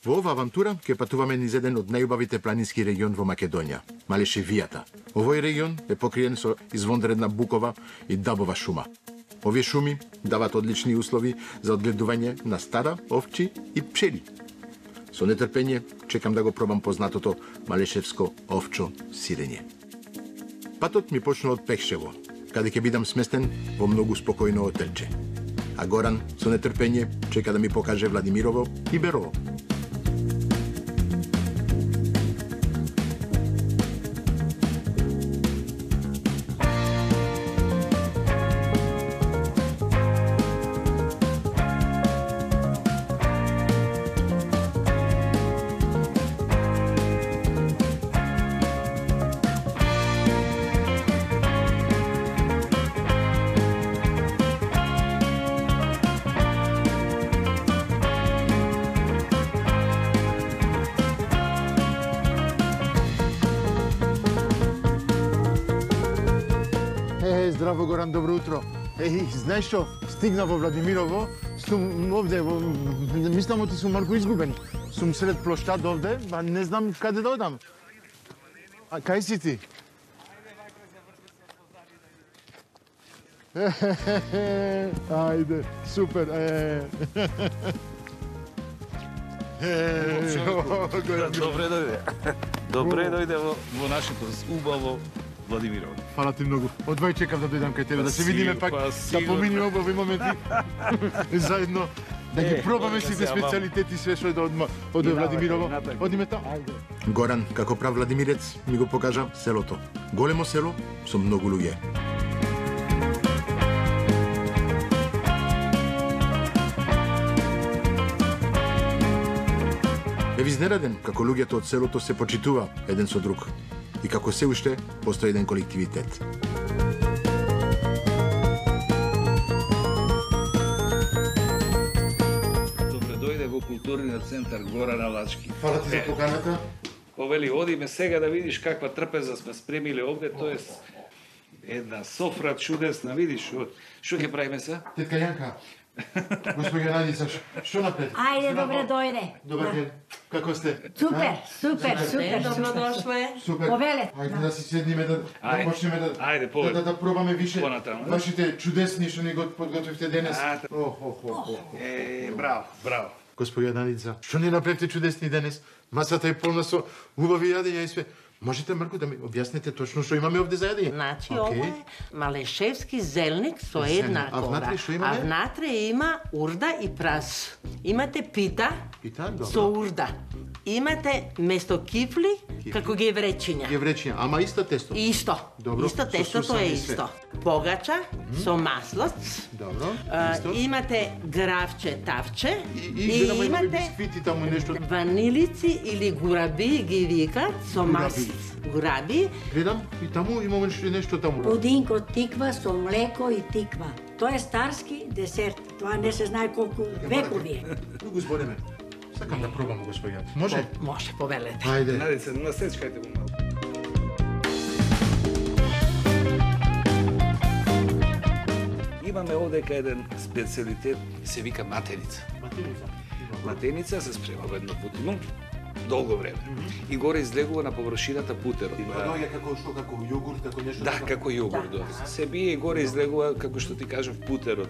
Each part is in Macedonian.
Во ова авантура ќе патуваме низ еден од најубавите планински регион во Македонија, Малешевијата. Овој регион е покриен со извонредна букова и дабова шума. Овие шуми дават одлични услови за одгледување на стада, овчи и пчели. Со нетрпение чекам да го пробам познатото малешевско овчо сирење. Патот ми почна од Пехшево, каде ќе бидам сместен во многу спокојно отелче. А Горан со нетрпение чека да ми покаже Владимирово и Берово. Здраво, Горан, добро утро. Знаеш што? Стигна во Владимирово, сум овде, мислам оти сум малку изгубен. Сум сред площад овде, а не знам каде да одам. А кај си ти? Ајде, супер. Добре дојде. Добре дојде во нашето убаво Владимирово. Фала ти многу. Одвај чекав да дојдам кај тебе, да се видиме пак, да поминиме убави моменти. Заедно, да ги пробаме сите специјалитети, све што е од Владимирово. Одиме таму. Горан, како прав владимирец, ми го покажа селото. Големо село со многу луѓе. Бев изненаден како луѓето од селото се почитува еден со друг и како се уште постои еден колективитет. Добре дојде во културниот центар Гора на Лачки. Фала ти за поканата. Повели, одиме сега да видиш каква трпеза сме спремили овде, тоест една софра чудесна, видиш, што ќе правиме се? Тетка Јанка, господја Надица, што напред? Ајде, добре дојде. Добар ден. Како сте? Супер, супер, супер. Добродошле. Супер. Повелете. Ајде да си седниме да почнеме да пробаме више вашите чудесни што ни го подготвивте денес. Браво, браво. Господја Надица, што ни направите чудесни денес? Масата е полна со убави јадења и све. Можете, Марко, да ми објасните точно што имаме овде за јадење? Значи, ова е малешевски зелник со една А внатре кора. што имаме? А внатре има урда и прас. Имате пита Пита, добро. со урда. Имате место кифли, како гевречиња. Гевречиња, ама исто тесто. Исто. Добро, Исто со тестото сусами е и све. исто. Погача со маслоц. Добро, исто. Имате гравче, тавче И имаме бисквити таму нешто. ванилици или гураби ги викат со масло. Гураби. Гледам и таму имаме нешто таму. Пудинко тиква со млеко и тиква. Тоа е старски десерт. Тоа не се знае колку векови е. Го збореме. Сакам да пробам, господја. Може? Може, повелете. Ајде. Надице, насечкајте го малку. Имаме овдека еден специјалитет, се вика матеница. Матеница се спрема во едно путино, долго време. И горе излегува на површината путерот. Доаѓа како јогурт, како нешто. Да, како јогурт. Се бие и горе излегува, како што ти кажав, путерот.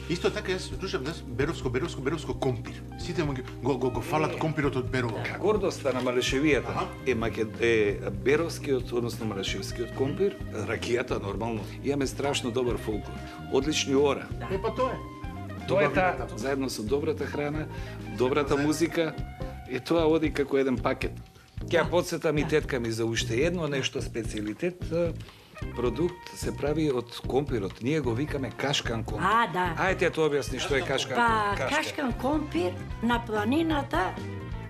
Исто така јас слушам Беровско компир. Сите го фалат компирот од Берово. Гордоста на Малешевијата е Беровскиот, односно Малешевскиот компир, ракијата нормално. Имаме страшно добар фолклор, одлични ора. Па тоа е. Тоа е таа, заедно со добрата храна, добрата музика, и тоа оди како еден пакет. Ќе подсетам и тетка ми за уште едно нешто специјалитет, продукт се прави од компирот. Ние го викаме кашкан компир. А, да. Ајде тоа објасни што е кашкан Па, компир. кашкан компир на планината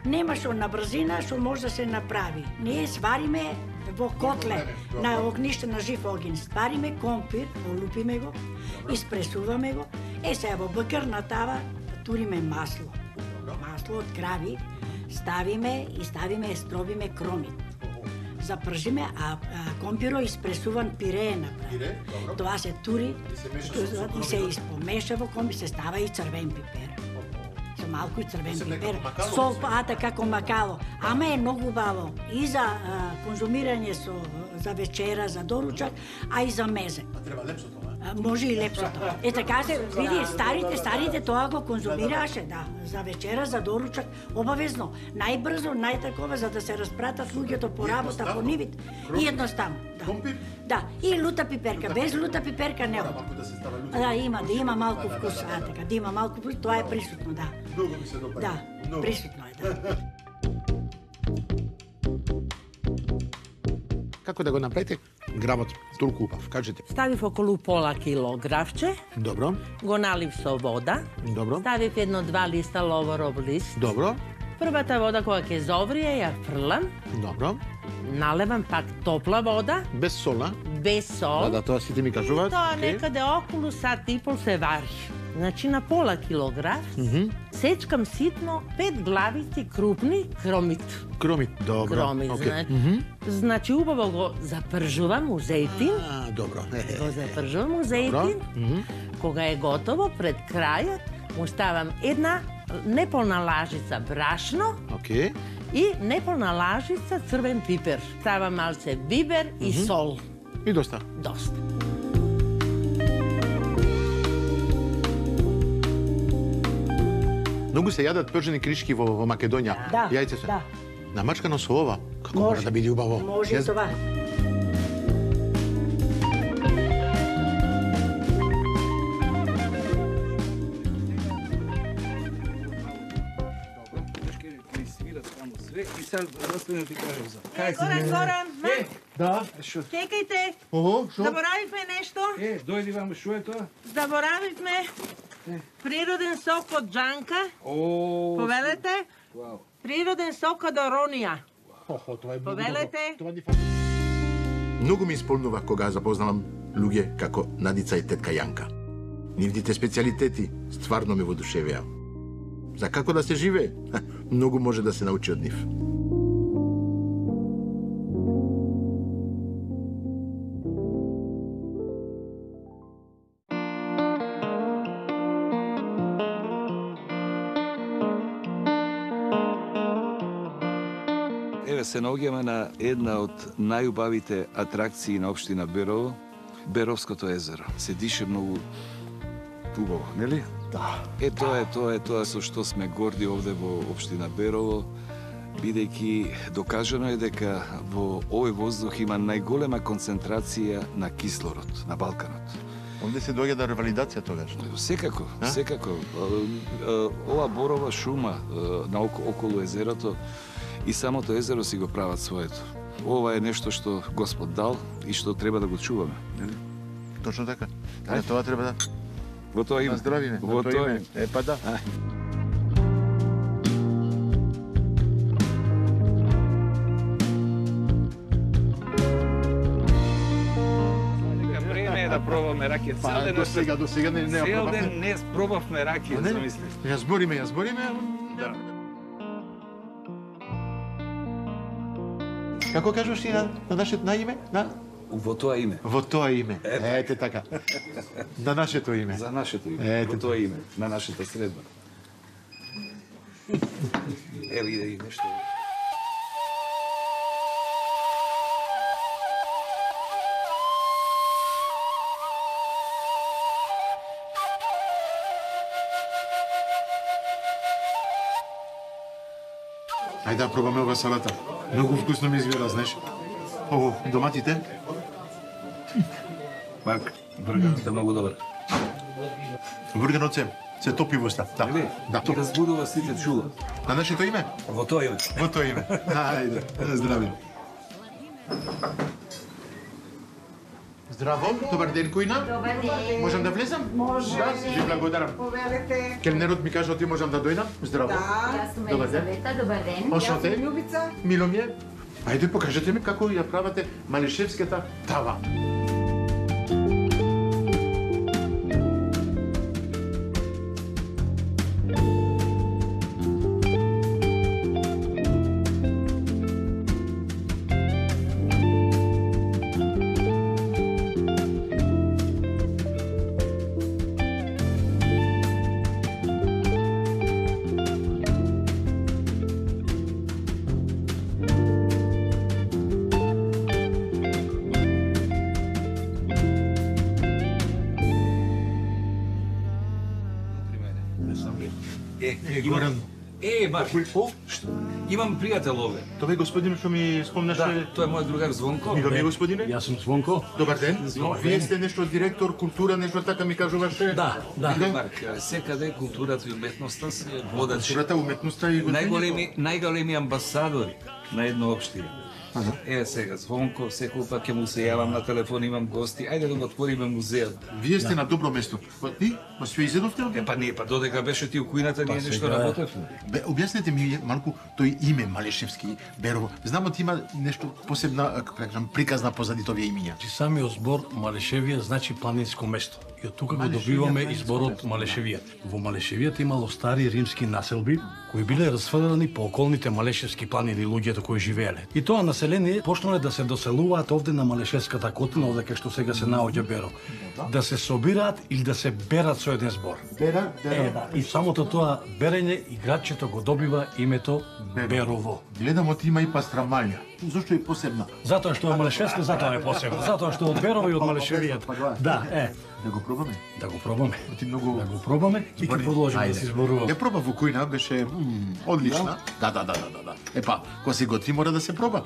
нема што на брзина што може да се направи. Ние свариме во котле на огниште на жив огин. Свариме компир, олупиме го, испресуваме го. Сега во бакар на тава туриме масло. Масло од крави, ставиме и стробиме кромит. Запржиме, а компиро испресуван пире направи. Тоа се тури и се испомеша во компир, се става и црвен пипер. Со малку и црвен пипер, сол, како макало. Ама е многу убаво и за конзумирање за вечера, за доручак, а и за мезе. Треба лепсо тоа. Може и лепсото. Така се, види, старите тоа го конзумираше, да, за вечера, за доручак, обавезно. Најбрзо, најтакова, за да се распратат луѓето по работа, по нивите. И едноставно. Да. Компир? Да, и лута пиперка. Без лута пиперка не. Малку да се става лута. Да има малку вкус, така, да има малку вкус, тоа е присутно, да. Многу ми се допаѓа. Да, присутно е, да. Како да го направите гравот толку убав? Кажете. Ставив околу пола кило гравче, Добро, го налив со вода, добро, ставив 1-2 листа ловоров лист. добро, Првата вода кога ќе зоврие ја фрлам, добро. налевам пак топла вода, Без сол, а? без сол. Да, тоа сите ми кажуваат. Тоа Окей. некаде околу сат и пол се вари. Значи на пола килограф сечкам ситно 5 главици крупни кромит. Кромит, добро. Кромит, Окей. значи убаво го запржувам у зејтин. Добро. Го запржувам у зејтин. Кога е готово, пред крајот му ставам една неполна лажица брашно Окей. и неполна лажица црвен пипер. Ставам малце бибер и сол. И доста. Доста. Многу се јадат пържени кришки во Македонија. Да, Јајце се. да. Намачкано со ова. Како мора да биде убаво? Може и това. И сега да ти кажам за. Горан, Да. чекајте, Ого, шо? заборавивме нешто. Дојди вам, што е тоа? Заборавивме природен сок од джанка. О, Повелете, вау. природен сок од оронија. Охо, тоа е многу Повелете. добро. Тоа ни фали. Многу ми исполнува кога запознавам луѓе како Надица и тетка Јанка. Нивните специјалитети стварно ме воодушевија. За како да се живее, многу може да се научи од нив. Еве се наоѓаме на една од најубавите атракции на општина Берово, Беровското езеро. Се дише многу убаво, нели? Да. Тоа е тоа со што сме горди овде во општина Берово, бидејќи докажано е дека во овој воздух има најголема концентрација на кислород на Балканот. Онде се доаѓа до ревалидација тогаш. Секако, секако. Ова борова шума околу езерото и самото езеро си го прават своето. Ова е нешто што Господ дал и што треба да го чуваме, нели? Точно така. Тоа треба да Во тоа име. здравиме. Во тоа име. Па да. Време е да пробаме ракија. Цел ден До сега не цел пробавме. ден не пробавме ракија, Не? замисли. Ја збориме. Да. Како кажеш ти на нашето наиме? Во тоа име. Во тоа име. Ете така. На нашето име. За нашето име. Ете. Во тоа име, на нашата средба. Ево иде и нешто. Ајде да пробаме ова салата. Многу вкусно ми изгледа, знаеш. Ово, доматите. Марк, бурганот е многу добар. Бурганот се топи во уста. Да. Нели? Да. И разбудува сите чула. На нашето име? Во тоа име. Во тоа име. Ајде, здрави. Здраво, добар ден, Којна. Добар ден. Можам да влезам? Може. Да, ви благодарам. Повелете. Келнерот ми кажа ти можам да дојдам. Здраво. Да. Јас сум Добар ден. Елизавета, добар ден. Очно те? Љубица. Мило ми е. Ајде, покажете ми како ја правате малишевската тава. Не сам бил. Горан. Марко, што? Имам пријател овде. Тоа е господин што ми спомнаше. Да, тоа е мојот другар Звонко. Мило ми господине. Јас сум Звонко. Добар ден. Вие сте нешто директор култура, нешто така ми кажуваше? Да. Марк, секаде културата и уметноста се водачи. Културата, уметноста и Најголеми амбасадори на една општина. Еве сега Звонко, секој пат ќе му се јавам на телефон, имам гости. Ајде да го отвориме музејот. Вие сте на добро место. Ти, све изедовте? Па додека беше ти у кујната, ние нешто работевме. Објаснете ми малку тој име Малешевски, Берово. Знам да има нешто посебна, како кажам, приказна позади овие имиња. Самиот збор Малешевија значи планинско место. И од тука го добиваме изборот Малешевија. Во Малешевијата имало стари римски населби кои биле расфрлени по околните Малешевски планини луѓето кои живееле. И тоа население почнале да се доселуваат овде на Малешевската котлина, овде кај што сега се наоѓа Берово. Да се собираат или да се берат со еден збор. И самото тоа берење играчето го добива името Берово. Гледам од има и пастрамалја. Зошто е посебна? Затоа што е Малешевска, затоа е посебна. Затоа што од Берово и од Малешевијата. Да, Да го пробаме? Да го пробаме. Ти многу... Да го пробаме и ќе продолжиме да се зборуваме. Ја проба во кујна, беше одлична. Да. Епа, кога се готви мора да се проба.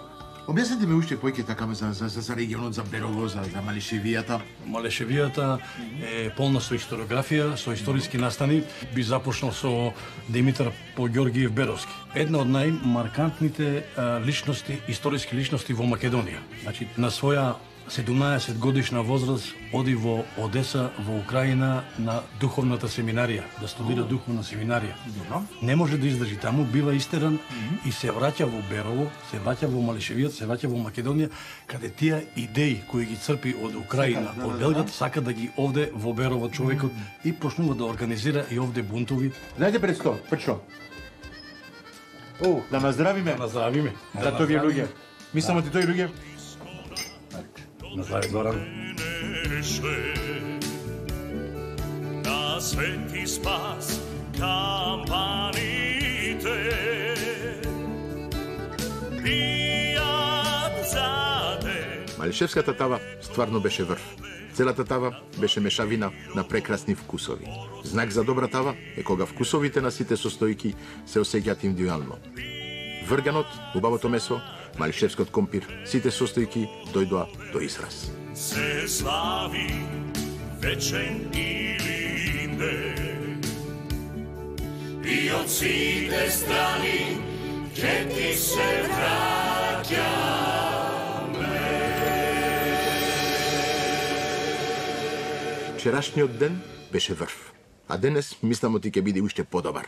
Објаснете ми уште поиќе така за регионот, за Берово, за Малешевијата. Малешевијата е полна со историографија, со историски настани. Би започнал со Димитар Поѓоргиев Беровски. Една од најмаркантните личности, историски личности во Македонија. Значи, на своја 17 годишна возраст оди во Одеса, во Украина, на духовната семинарија, да студира духовна семинарија. Не може да издржи таму, бива истеран и се враќа во Берово, се враќа во Малешевијата, се враќа во Македонија, каде тие идеи кои ги црпи од Украина, од Белград, сака да ги овде во Берово човекот и почнува да организира и овде бунтови. Знаете пред сто, пред да наздравиме. Да наздравиме. За овие луѓе. Мислам ти тој луѓе. Наздрави Горан. На свети спас кампаните бијат за ден. Малешевската тава стварно беше врв. Целата тава беше мешавина на прекрасни вкусови. Знак за добра тава е кога вкусовите на сите состојки се осеќаат индивидуално. Врганот, убавото месо, малешевскиот компир, сите состојки дојдоа до израз. Се слави вечен или не, и од сите страни ќе ти се враќаме. Вчерашниот ден беше врв, а денес мислам ти ќе биде уште подобар.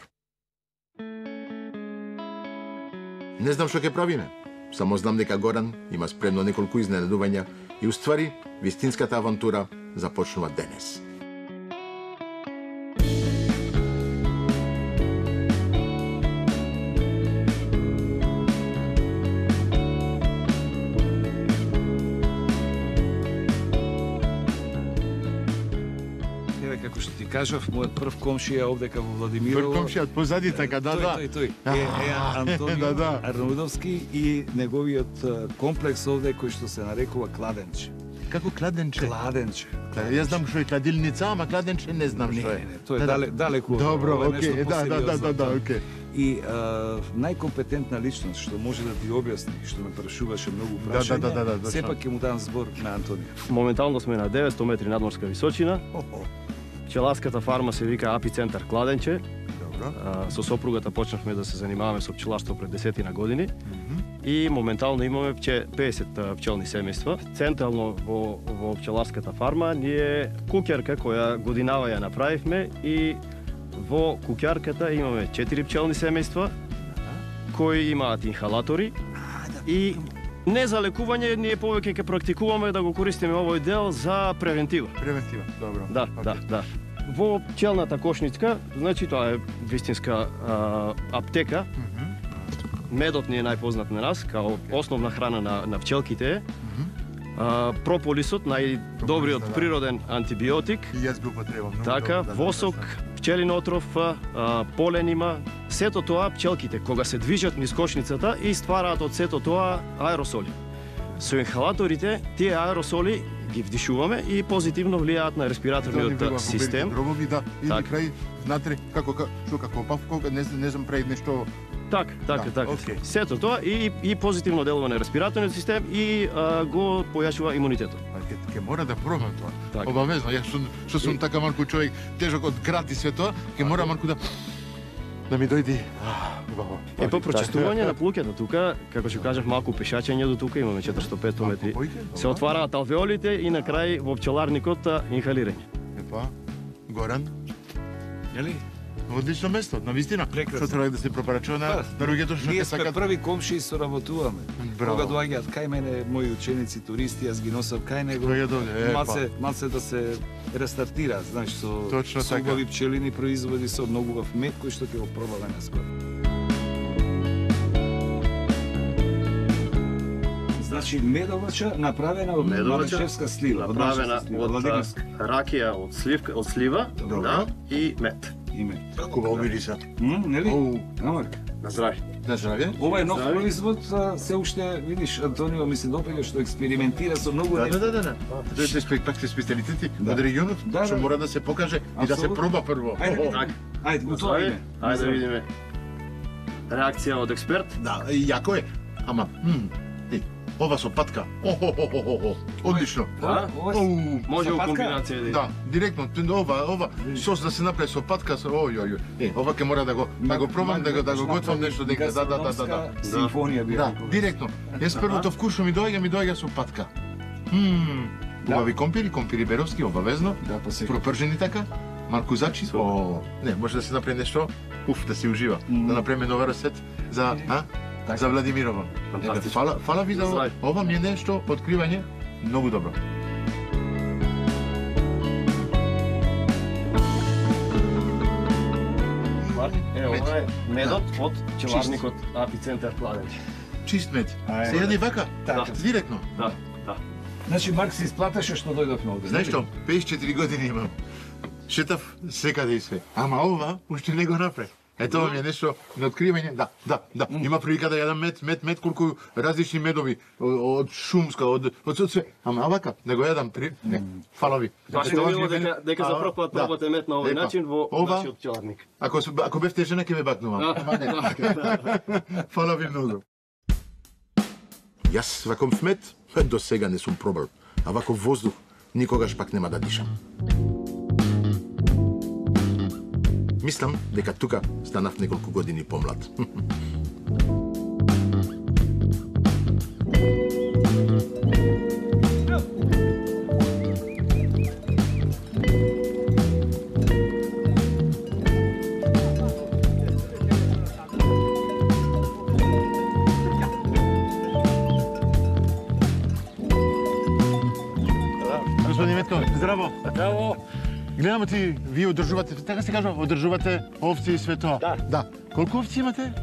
Не знам што ќе правиме. Само знам дека Горан има спремно неколку изненадувања и уствари вистинската авантура започнува денес. Како што ти кажав, мојот прв комшија овдека во Владимирово. Прв комшија од позади така, да. Тој. Е Антонио Арнаудовски и неговиот комплекс овде кој што се нарекува Кладенче. Како кладенче? Кладенче. Јас знам што е кладилница, ама кладенче не знам што е. Тоа е далеку. Добро, окей, да, окей. И најкомпетентна личност што може да ти објасни, што ме прашуваше многу прашања, сепак ќе му дам збор на Антонио. Моментално сме на 900 метри надморска височина. Пчеларската фарма се вика Апицентар Кладенче. Добро. Со сопругата почнавме да се занимаваме со пчеларство пред 10 години. И моментално имаме 50 пчелни семејства. Централно во пчеларската фарма ние куќарка која годинава ја направивме и во куќарката имаме 4 пчелни семејства кои имаат инхалатори и не за лекување, ние повеќе ќе практикуваме да го користиме овој дел за превентива. Превентива, добро. Да. Во пчелната кошницка, значи тоа е вистинска аптека. Медот ни е најпознат на нас, као основна храна на пчелките. Прополисот, најдобриот природен антибиотик. И јас го потребам. Така, восок, пчелин отров, полен има. Сето тоа пчелките, кога се движат низ кошницата и ствараат од сето тоа аеросоли. Со инхалаторите, тие аеросоли ги вдишуваме и позитивно влијаат на респираторниот систем. Дробови, да, или Так. крај внатре, како павка, не знам прави нешто. Така. окей. Сето тоа и позитивно делува на респираторниот систем и го појачува имунитетот. Ке мора да пробам тоа. Така. Обавезно, јас што сум така малку човек, тежок од град и све тоа, ке мора малку да ми дојди. Убаво. По прочистување на плуќето тука, како што кажав, малку пешачење до тука, имаме 400-500 метри. Се отвараат алвеолите и на крај во пчеларникот инхалирање. Епа, Горан, Нели? одлично место, навистина. Прекрасно. Што треба да се пропорачува на луѓето што Ние ќе сме сакат. први комши и соработуваме. Браво. Кога доаѓаат кај мене мои ученици туристи, јас ги носам кај него. Доаѓаат овде, Малце да се рестартира, знаеш, Точно со така. убави пчелини производи, со многу убав мед кој што ќе го пробаме наскоро. Значи медовача направена од Малишевска слива, од наша направена слива, од владигинска. ракија од слива, да, и мед. Име. Како ба мириса. Нели? Оу. Амарка. На здравје. На здравје. Ова е нов Здраве. производ, се уште, видиш, Антонио ми се допаѓа што експериментира со многу Да. нешта. Тоа се спектакли специјалитети Да. од регионот, Да, што да. мора да се покаже и да се Апсолутно. проба прво. Ајде, Така. ајде, На у тоа здравје. име. Ајде да видиме. Реакција од експерт. Да, и јако е. Ама, ова со патка. Одлично. Да. Оу. Може Со во патка? комбинација да. Да, директно, ова сос да се направи со патка, ова ќе мора да го пробам, да го готвам нешто дека да. Симфонија би Да, рекол. директно. Јас првото вкус што ми доаѓа со патка. Убави компири беровски, обавезно. Да, па се. Пропржени така, малку зачи. Не, може да се направи нешто, да се ужива. Да направиме нова рецет за за Владимирово. Фантастично. Фала ви за Здраве. ова ми е нешто откривање многу добро. Ова е медот од пчеларникот Апицентар Кладенче. Чист мед. Ај, Се јади вака, Така. директно. Да. Значи Марк се исплаташе што дојдовме овде. Знаеш што, 54 години имам. Шетав секаде и све. Ама ова уште не го направи. Ето ова ми е нешто на откривање. Да. Има прилика да јадам мед, колку различни медови од шумска, од све. Ама вака, да го јадам не. Фала ви. Баш ми мило дека за прв пат пробате мед на овој Епа, начин во ова- нашиот пчеларник. Ако бевте жена ќе ме бакнувам. Фала ви многу. Јас ваков мед до сега не сум пробал, а ваков воздух никогаш пак нема да дишам. Мислам дека тука станав неколку години помлад. Господин Метко, здраво. Здраво. Гледам ти, вие одржувате, така се кажа, одржувате овци и све тоа. Да. Колку овци имате?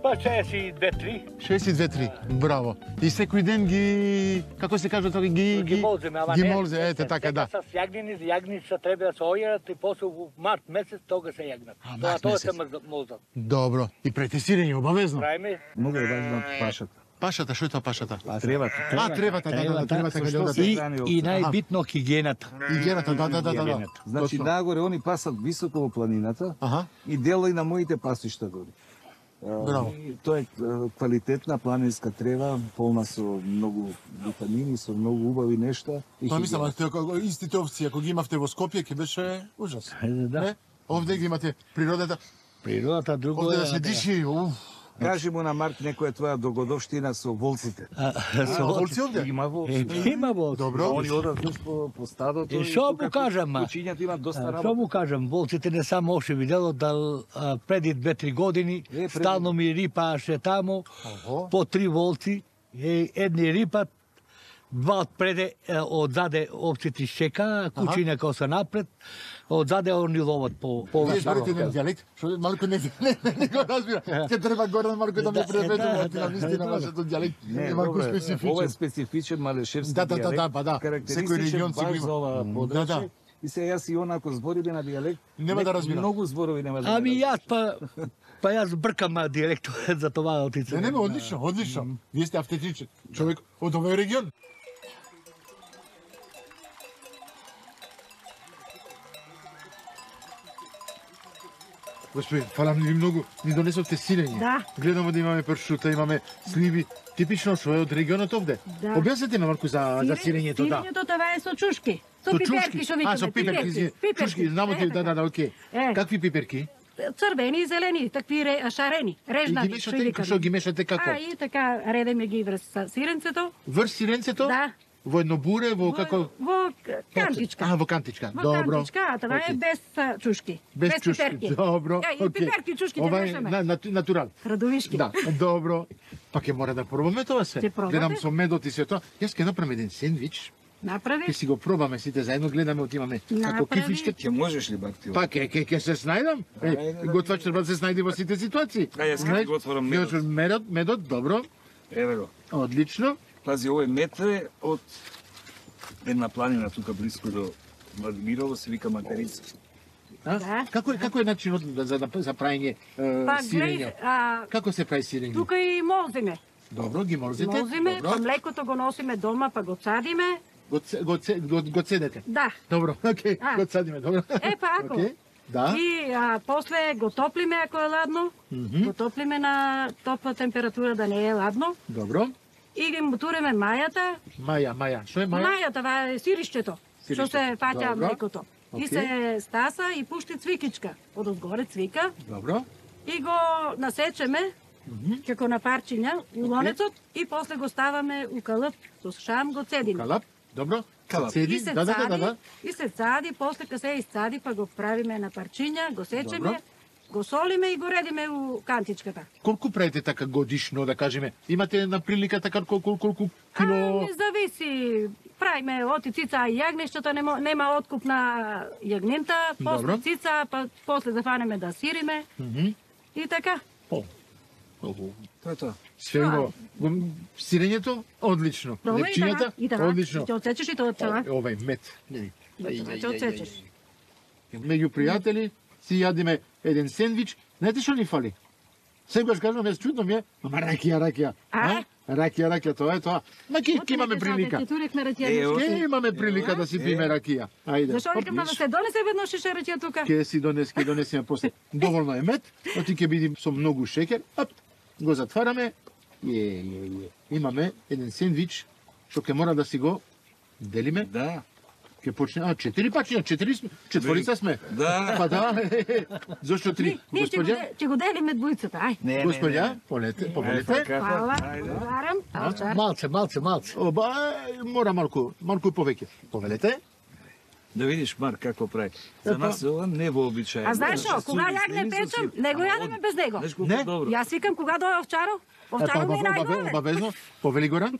Па 62-3. 62-3. Браво. И секој ден ги, како се кажа тоа, Ги молземе, ама ги не. молзе, ете така, да. Сега с јагница треба да се ојерат и после во март месец тога се јагнат. март Тоа месец. се молзат. Добро. И претестирање обавезно. Правиме? Многу е важна пашата. Пашата, што е тоа пашата? Требата. Требата, да, требата кај да. И најбитно хигиената. Игената, да. Значи Точно. нагоре они пасат високо во планината Аха. и дела и на моите пасишта дори. Браво. И тоа е квалитетна планинска трева, полна со многу витамини, со многу убави нешта. И Па мислам, хигиена. истите овци, ако ги имавте во Скопје, ќе беше ужас. Да. Не? Овде ги имате природата, Природата друго овде е. да се диши. Кажи му на Марк некоја твоја догодовштина со волците. Волци овде? Има волци. Има волци. Добро. Они одат по стадото. И што му кажам, Кучињата имаат доста Што работа. му кажам, волците не само оше видело да преди 2-3 години преди- стално ми рипаше таму Ого. по 3 волци, едни рипат, два отпреде, одзаде овците шека, кучиња кој се напред, одзаде они ловат по Вие зборите еден дијалект, што малку не го разбира. Ќе треба Горан малку да ме преведува, на вистина вашето дијалект е малку Ова е специфичен. специфичен малешевски Да, дијалект. па да. Секој Карактеристичен регион си го баш има. за ова Да, подрачје. да. И се јас и онако збориме на дијалект. Нема да разбирам. Многу зборови нема да Ами разбирам. јас па јас бркам дијалектот за това отице. Не, одлично. Вие сте автентичен човек од овој регион. Господи, фала ви многу. Ни донесовте сирење. Да. Гледаме да имаме пршута, имаме сливи. Типично што е од регионот овде. Да. Објаснете ме малку за сирењето, да. Сирењето това е со чушки. Со пиперки што викаме. со пиперки. Чушки, знамо ти, да, окей. Какви пиперки? Црвени и зелени, такви шарени, режнати. И ги мешате, што ги мешате како? И така редеме ги врз сиренцето. Врз сиренцето? Да. Во едно буре, во како? Во кантичка. Во кантичка. Во Добро. кантичка, а това е без чушки. Без чушки. пиперки. Добро. И пиперки, чушки Ова не е мешаме. натурал. Радовишки. Да, добро. Па ќе мора да пробаме тоа се. Ќе пробате? Гледам со медот и се тоа. Јас ќе направам еден сендвич. Направи. Ќе си го пробаме сите заедно, гледаме, отимаме како Направи. кифличка. Ќе можеш ли бакти? Па ќе се снајдам. Готвач треба да се снајде во сите ситуации. Јас ќе го отворам медот. Медот, добро. Еве го. Одлично. Пази, овој мед е од една планина тука близко до Владимирово, се вика Материца. Да. Како е начинот за правење Па сирење? гледај, Како се прави сирење? тука и молзиме. Добро, ги молзите. Молзиме, Добро. па млекото го носиме дома, па го цадиме. Го цедете. Да. Добро, окей, го цадиме, добро. Па ако. Окей. Да. И после го топлиме ако е ладно. Го топлиме на топла температура да не е ладно. Добро. И ги мутуреме мајата. Маја. Што е маја? Мајата, това е сиришчето. Што се фаќа Добро. млекото. И Окей. се стаса и пушти цвикичка. Од одгоре цвика. Добро. И го насечеме како на парчиња у лонецот и после го ставаме у калап. Со шам го цедиме. Калап. Добро. Калап. Цеди. И се Да. цади, и се цади, после кога се изцади, па го правиме на парчиња, го сечеме, Добро. го солиме и го редиме у кантичката. Колку правите така годишно, да кажеме? Имате на прилика така колку кило? Не зависи. Правиме оти цица и јагнешчето, нема откуп на јагнента, после Добро. цица, па после зафанеме да сириме. И така. Тоа е тоа. Све го сирењето одлично. Пробај и Лепчињата така, и така. одлично. Ќе отсечеш и тоа цела. Овај мед. Ќе отсечеш. Меѓу пријатели си јадиме еден сендвич. Знаете што ни фали? Сегаш кажам, јас чудно ми е, ама ракија. А? Ракија, тоа е тоа. Ма ке имаме прилика. Ќе турекме ракија. Ке имаме прилика да си пиме ракија. Ајде. Зашо викам да се донесе веднаш шеше ракија тука? Ке си донесеме после. Доволно е мед, оти ќе биде со многу шеќер. Оп, го затвараме. Имаме еден сендвич што ќе мора да си го делиме. Да. Ќе почне, 4 пачиња, 4 сме. Да. Па да. Зошто 3? Ние Господја? ќе го делиме двојцата, ај. Господја, повелете. Фала, благодарам. Малце. Оба, мора малку повеќе. Повелете. Да видиш, Марк, како прави. За нас ова не вообичаено. А знаеш што, кога јагне печам, не го јадеме без него. Знаеш колку Не. добро. Јас викам кога дое овчаро, овчаро ми е најдобре. Обавезно. Повели Горан.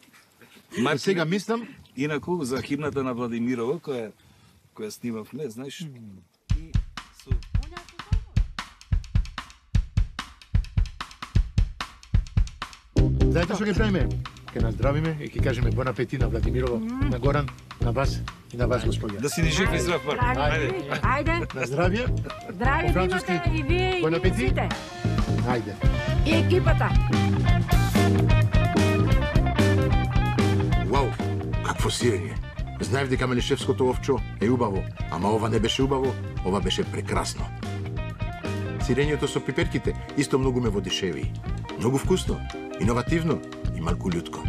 Марк, Сега мислам, инаку за химната на Владимирово, која снимавме, знаеш, и со знаете што ќе правиме? Ќе наздравиме и ќе кажеме бон апетит на Владимирово, на Горан, на вас и на вас, господја. да си ни жив и здрав, Марк. Здрави, ајде. На здравје. Здрави По да француски. имате и вие и Бон ние апетит. сите. Ајде. И екипата. Вау, какво сирење. Знаев дека Мелишевското овчо е убаво, ама ова не беше убаво, ова беше прекрасно. Сирењето со пиперките исто многу ме водишеви. Многу вкусно, иновативно и малку љутко.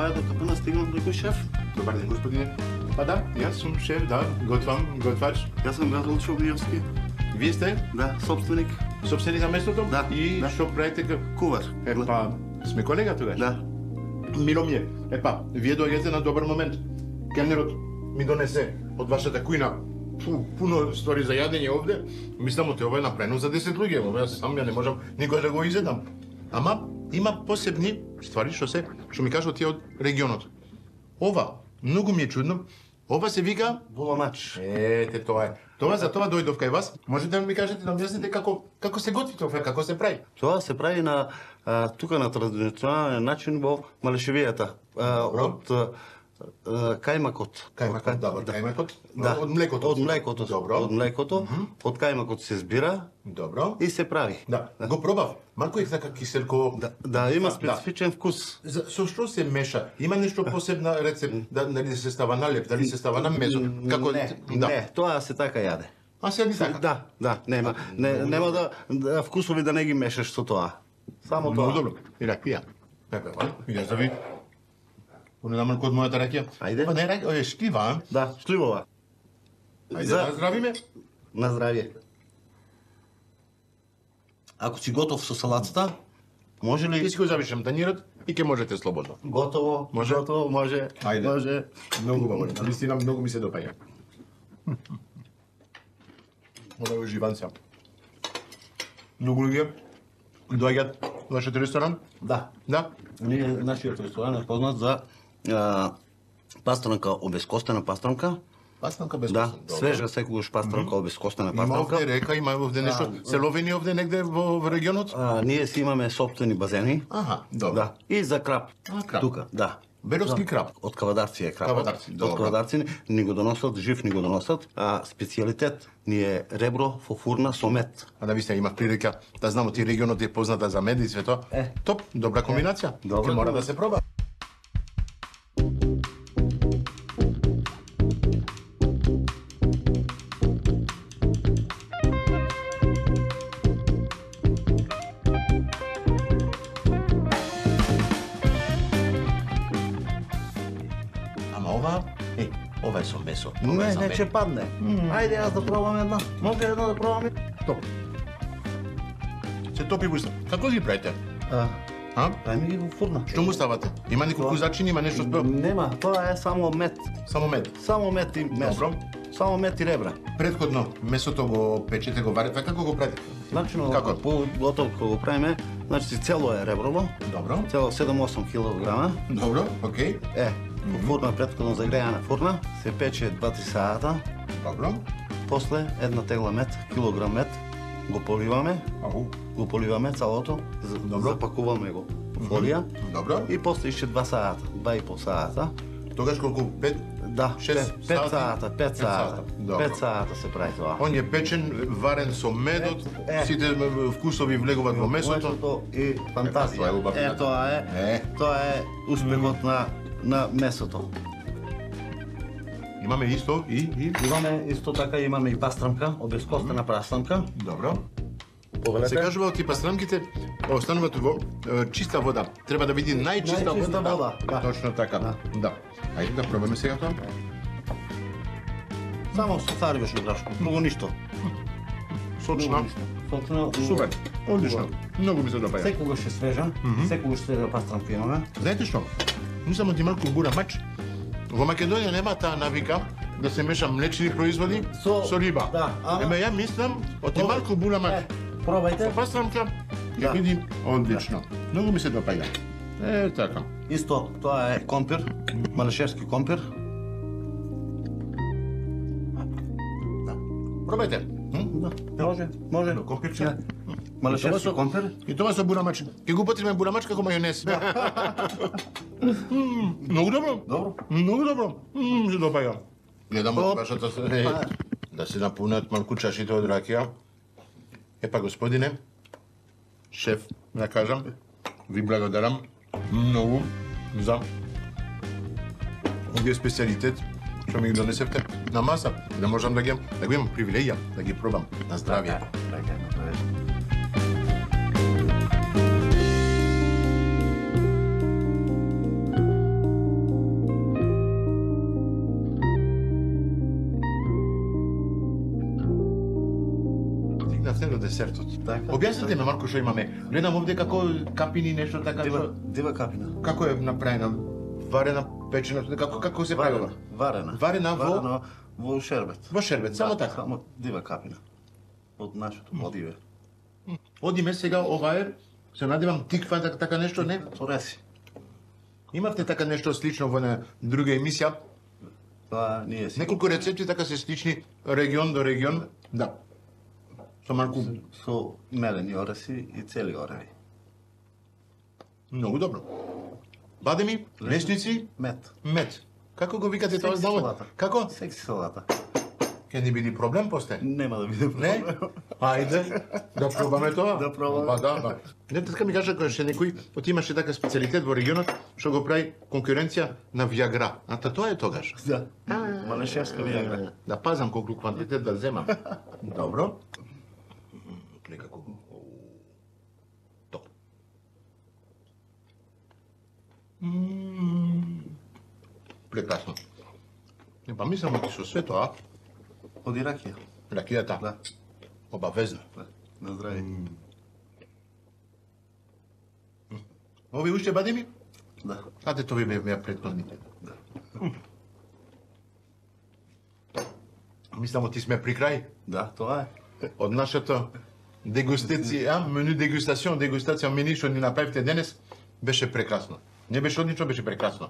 мојата капана стигнал некој шеф. Добар ден, господине. Па да, јас сум шеф, да, готвач. Јас сум Газол Шогниевски. Вие сте? Да, собственик. Собственик на местото? Да. И што правите кувар? Па, сме колега тогаш? Да. Мило ми е. Вие доаѓате на добар момент. Келнерот ми донесе од вашата кујна пуно ствари за јадење овде. Мислам, ова е направено за 10 луѓе. Ова сам ја не можам никој да го изедам. Ама има посебни ствари што ми кажат тие од регионот. Ова, многу ми е чудно. Ова се вика буламач. Ете, тоа е. Тоа за тоа дојдов кај вас. Можете да ми кажете, да објасните како се готви тоа, како се прави? Тоа се прави на тука на традиционален начин во Малешевијата. Од кајмакот. Кајмакот? Да. Од млекото. Од млекото. Добро. Од млекото. Од кајмакот се збира. Добро. И се прави. Да. Го пробав. Малку е така киселко. Да, има специфичен вкус. Со што се меша? Има нешто посебна рецепт, дали се става на леп, дали се става на месо? Како Не, тоа се така јаде. А се јаде така? Да, нема да вкусови да не ги мешаш со тоа. Само тоа. Много добро. И ракија. Јас да ви понедам малку од мојата ракија. Ајде. Па не ракија, е шклива, Да, шкливова. Ајде, на здравиме. На здравје. Ако си готов со салатата, може ли... Ти си го завишам танирот и ќе можете слободно. Готово, може. Готово, може. Ајде. Може. Многу убаво. Наистина многу ми се допаѓа. Ова е уживанца. Многу луѓе доаѓаат во вашиот ресторан? Да. Да? Нашиот ресторан е познат за пастрамка, обескостена пастрамка. Пастрамка без Да, костен, свежа секогаш пастрамка, обескостена Има пастрамка. овде река, има овде нешто, се лови ни овде негде во регионот? Ние си имаме собствени базени. Аха, добро. Да. И за крап. крап. Тука, да. Беровски крап. Од кавадарци е крапот. Кавадарци, добро. Од кавадарци ни го доносат, жив ни го доносат. Специјалитет ни е ребро во фурна со мед. А да ви се имав прилика да знам ти регионот е позната за мед и све тоа. Топ, добра комбинација. Ќе мора да се проба. Ова е со месо. Не ќе падне. Ајде јас да пробам една. Може една да пробам? Топ. Се топи во уста. Како ги правите? Правиме ги во фурна. Што му ставате? Има неколку зачини, има нешто спро? Нема, тоа е само мед. Само мед? Само мед и месо. Добро. Само мед и ребра. Предходно месото го печете, го варите, како го правите? Начинот како? Готово кога го правиме, значи цело е реброво. Добро. Цело 7-8 килограма. Добро, окей. Во фурна, предходно загрејана фурна, се пече 2-3 сата. Добро. После една тегла мед, килограм мед, го поливаме. Го поливаме цалото, запакуваме го во фолија. Добро. И после ише 2 сата, 2,5 сата. Тогаш колку 5? Да, 5 сата, 5 сата. Добро. 5 сата се прави тоа. Он е печен, варен со медот, сите вкусови влегуваат во месото. И фантазија. Тоа е успехот на месото. Имаме исто и имаме исто така, имаме и пастрамка, обескостена пастрамка. Добро. Се кажува од пастрамките остануваат во чиста вода. Треба да биде најчиста вода. Точно така. Да. Ајде да пробаме сега тоа. Само со царевишно брашно, многу ништо. Сочно. Сочно. Супер. Одлично. Многу ми се допаѓа. Секогаш е свежа, секогаш свежа пастрамка имаме. Знаете што? Мислам ти малку бурамач. Во Македонија нема таа навика да се меша млечни производи со риба. Да, ема ја мислам од малку бурамач. Пробајте. Со пастрамка ќе биде одлично. Многу ми се допаѓа. Така. Исто, тоа е компир, малешевски компир. Пробајте. Може. Компирче. Малешевски компир. И тоа со бурамач. Ќе го потребиме бурамач како мајонез. Многу добро. Многу добро. Се допаѓа. Гледам од вашата да се напунат малку чашите од ракија. Епа, господине, шеф, да кажам, ви благодарам многу за овие специалитет што ми ги донесевте на маса, да можам да го имам привилегија, да ги пробам. На здравје. десертот. Така. Објасните ме малку што имаме. Гледам овде како капини нешто така што Дива капина. како е направена, варена, печена, како се прави? Варена во шербет. Во шербет, само така. Само дива капина. Од нашето одиве. Одиме сега ова е, се надевам тиква така нешто, не? Ореси. Имавте така нешто слично во една друга емисија? Па ние си. Неколку рецепти така се слични регион до регион, да. Со малку Со мелени ореси и цели ореви. многу добро. Бадеми, лесници, Мед. мед. Како го викате тоа Секси здраво? салата. Како? Секси салата. Ке не биде проблем после? Нема да биде Не? проблем. Ајде, да пробаме тоа. Да пробаме. Па да. Не, така ми кажа кој некој, имаше така специјалитет во регионот, што го прави конкуренција на Виагра. А тоа е тогаш. Да. Малешевска виагра. Да пазам колку квантитет да земам. Добро. Некако. Топ. Прекрасно. Не па мислам оти со све тоа, Од Иракија. ракијата, Да. обавезно. Да. На здраве. Ови уште бадеми? Да. Аде тоа ви беа претходните. Мислам оти сме при крај Да, тоа е. од нашата дегустација, мену дегустација мени што ни направивте денес, беше прекрасно. Не беше одлично, беше прекрасно.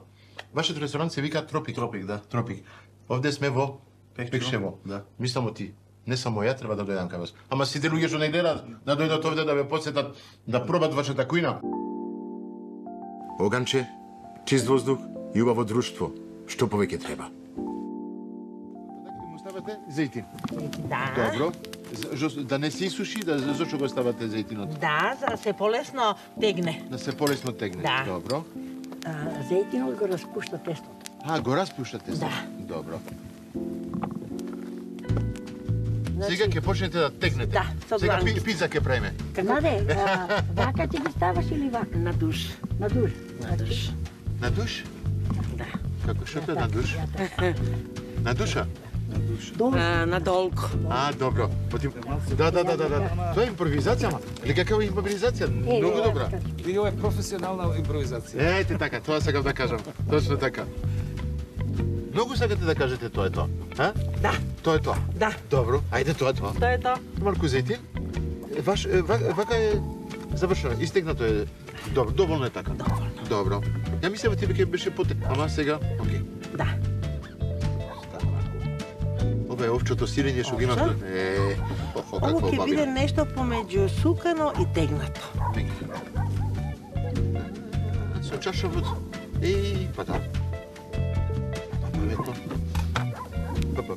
Вашиот ресторант се вика Тропик. Тропик, да. Тропик. Овде сме во Пекшево. Да. Мислам оти, не само ја треба да дојдам кај вас. Ама сите луѓе што не гледаат, да дојдат овде да ве посетат, да пробат вашата кујна. Оганче, чист воздух и убаво друштво. Што повеќе треба? Му ставате зејтин. Да. Добро. Да не се исуши, зашто го ставате зејтинот? Да, за да се полесно тегне. Да се полесно тегне. Да. Добро. Зејтинот го распушта тестото. Го распуштате се? Да. Добро. Сега ќе почнете да тегнете. Да, со Сега дланки. пица ќе правиме. Наде, вака ти ги ставаш или вака? На душ. На душ. На душ. На душ? Да. Како што е на душ? На душа? На долго. Добро. Да. Тоа е импровизација, ма. Или какава импровизација? Многу добра. И ова е професионална импровизација. Ете така, тоа сакам да кажам. Точно така. Многу сакате да кажете тоа е тоа, а? Да. Тоа е тоа. Да. Добро, ајде тоа е тоа. Тоа е тоа. Марко зејтин. Вака е завршено, истегнато е. Добро, доволно е така. Добро. Ја мислев ти ќе беше потек, ама сега, окей. Да. Ова е овчото сирење што го имам. Овчо? Охо, Ово какво ќе биде бабина. нешто помеѓу сукано и тегнато. Со чашавот. Па да. Паметно.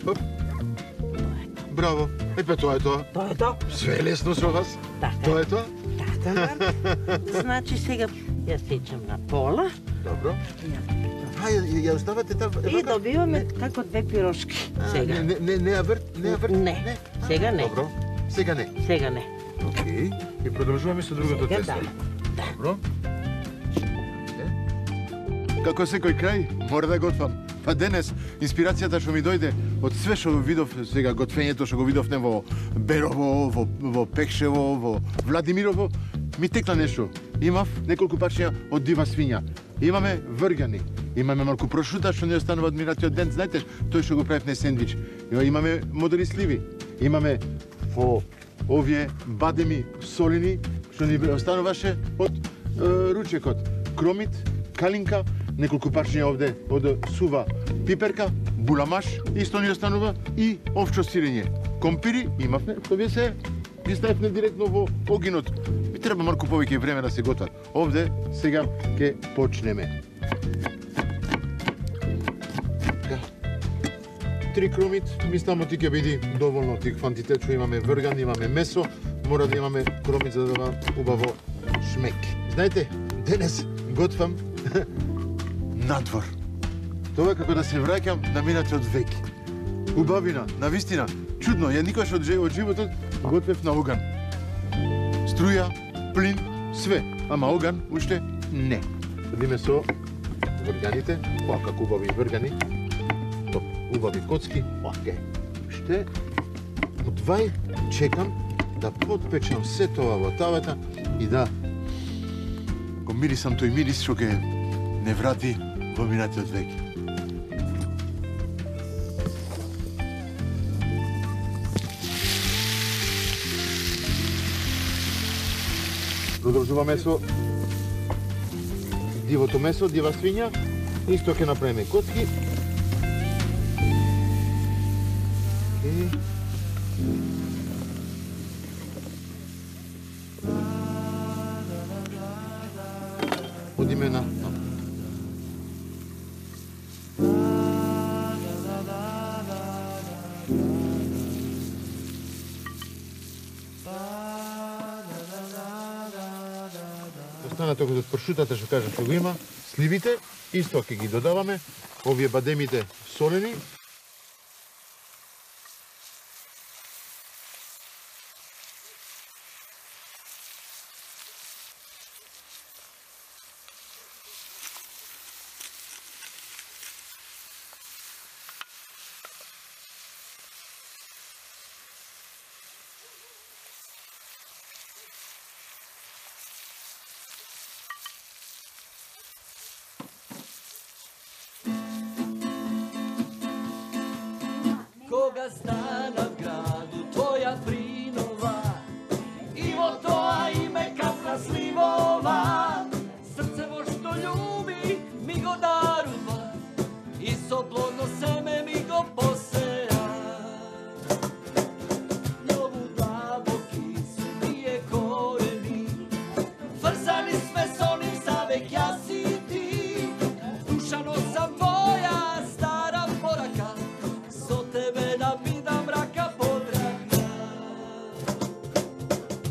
Пап. Браво. Па тоа е тоа. Тоа е тоа. Све е лесно со вас. Така. Тоа е тоа? Така. Значи сега ја сечам на пола Добро. Ја оставате таа. и добиваме како две пирошки. Сега. Не ја врт? Не. Сега не. Добро. Сега не. Сега не. Окей. И продолжуваме со другото Сега тесто. да. Добро. Како секој крај, мора да готвам. Па денес, инспирацијата што ми дојде од све што видов сега, готвењето што го видовме во Берово, во Пекшево, во Владимирово, ми текна нешто. Имав неколку пачња од дива свиња. Имаме вргани, имаме малку прошута што не останува од минатиот ден, знаете, тој што го правевме сендвич. Имаме модери сливи, имаме во овие бадеми солени што ни остануваше од ручекот. Кромит, калинка, неколку пачња овде од сува пиперка, буламаш, исто ни останува и овчо сирење. Компири имавме, тоа се ги ставивме директно во огинот. Ми треба малку повеќе време да се готват. Овде сега ќе почнеме. Така. 3 кромит, мислам ти ќе биде доволно ти квантитет што имаме врган, имаме месо, мора да имаме кромит за да убаво шмек. Знаете, денес готвам надвор. Тоа е како да се враќам на минатиот век. Убавина, навистина, чудно, ја никогаш од животот готвев на оган. Струја, плин, све, ама оган уште не. Следиме со врганите, како убави вргани, убави коцки, уште одвај чекам да подпечам се тоа во тавата и да го мирисам тој мирис што ке не врати во минатиот век. Продолжуваме со дивото месо, дива свиња. Исто ќе направиме коцки. Одиме на останато од пршутата што кажа што го има, сливите, исто ќе ги додаваме, овие бадемите солени. Кога стана в граду твоја принова и во тоа име капна сливова, срцево што љуби ми го дарува и со плодно семе ми го посеа. Многу длабоки се тие корени, врзани сме со нив завек јас и ти, душано сам твоја стара порака, со тебе да бидам рака под рака.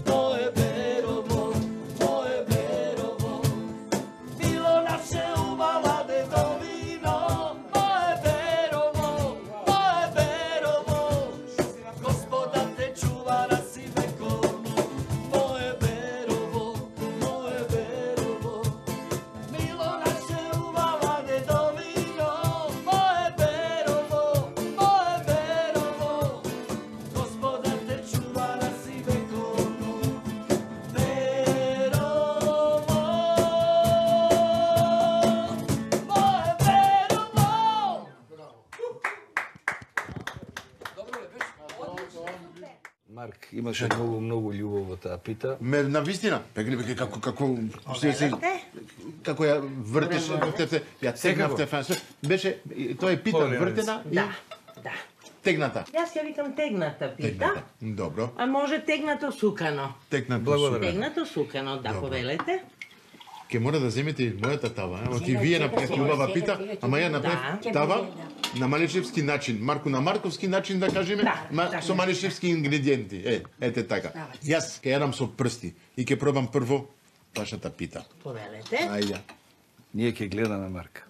Моје берово, било наше убава дедовино. Моје берово, Господа те чува на си вековно. Моје берово, било наше убава дедовино. Моје берово, Господа те чува на си вековно. Марк, имаше многу љубов во таа пита. На вистина, како како ја вртеше, ја тегнавте фансе. Беше тоа е пита вртена и Да. тегната. Јас ја викам тегната пита, Добро. а може тегнато сукано. Тегнато. Тегнато сукано, да, повелете. Ке мора да земете и мојата тава, оти вие направите убава пита, ама ја направив тава на малишевски начин, Марко на марковски начин да кажеме, со малишевски ингредиенти. Ете така. Јас ке јадам со прсти и ке пробам прво вашата пита. Повелете. Ајде. Ние ќе гледаме Марка.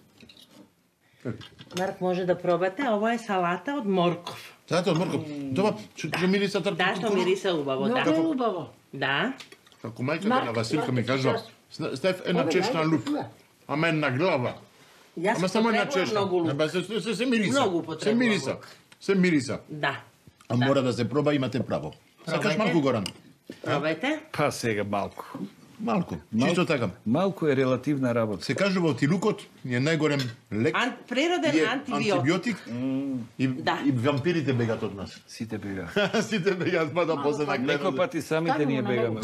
Марк може да пробате, ова е салата од морков. Салата од морков. Тоа што мириса трпа. Да, што мириса убаво, да. Многу убаво. Да. Како мајката на Василка ми кажа, ставив една чешна лук, ама една глава. Јас Ама само една потребувам чешна. многу лук. Се мириса. Многу Се потребувам мириса. лук. Се мириса. Да. А мора да се проба, имате право. Сакаш малку, Горан? Пробајте. Па сега малку. Малку, чисто така. Малку е релативна работа. Се кажува оти лукот е најголем лек. Природен и е антибиотик. И вампирите бегат од нас. Сите бегаат. Сите бегаат, па да после на гледа. Некој пати самите ние бегаме.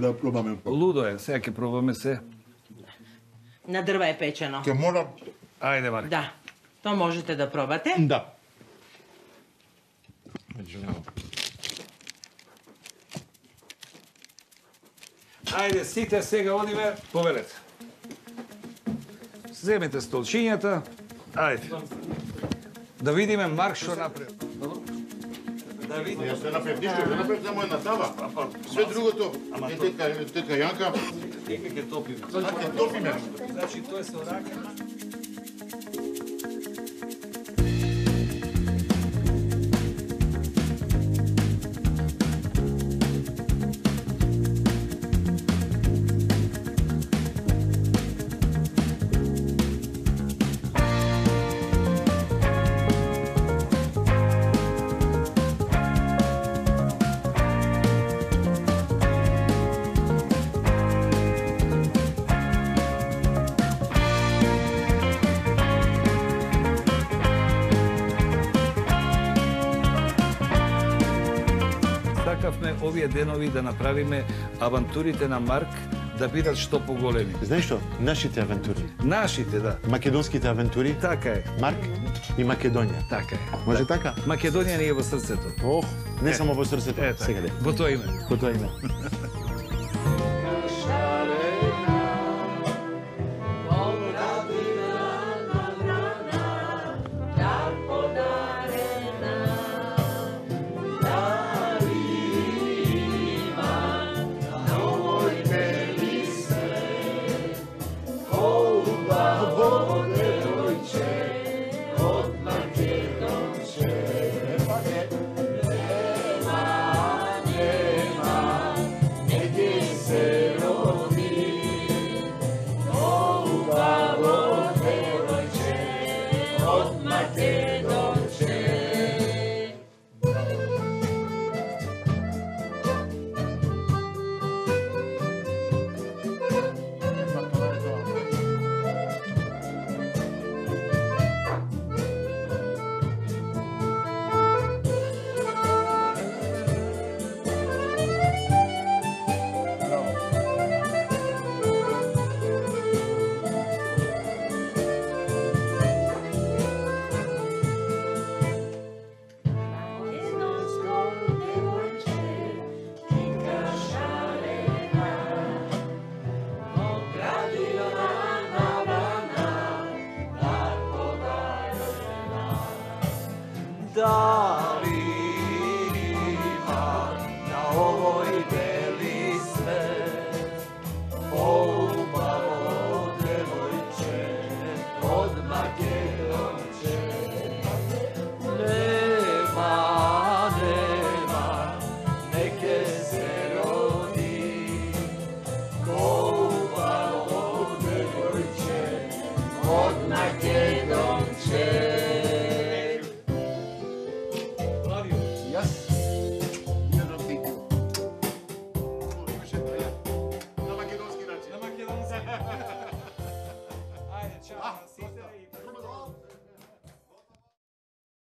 Да пробаме. Лудо е, сега ќе пробаме се. На дрва е печено. Ке мора... Ајде, Марко. Да. То можете да пробате. Да. Ајде, сите сега одиме, повелете. Земете столчињата. Ајде. Да видиме Марк што направи. Да видиме. Јас се направив ништо, ја направив само една тава. Све другото, тетка Јанка. Дека ќе топиме. Ќе топиме. Значи, тоа е со рака. сакавме овие денови да направиме авантурите на Марк да бидат што поголеми. Знаеш што? Нашите авантури. Нашите, да. Македонските авантури. Така е. Марк и Македонија. Така е. Може така? Македонија ни е во срцето. Ох, не само во срцето. Е, така. Сега де. Во тоа име. Во тоа име.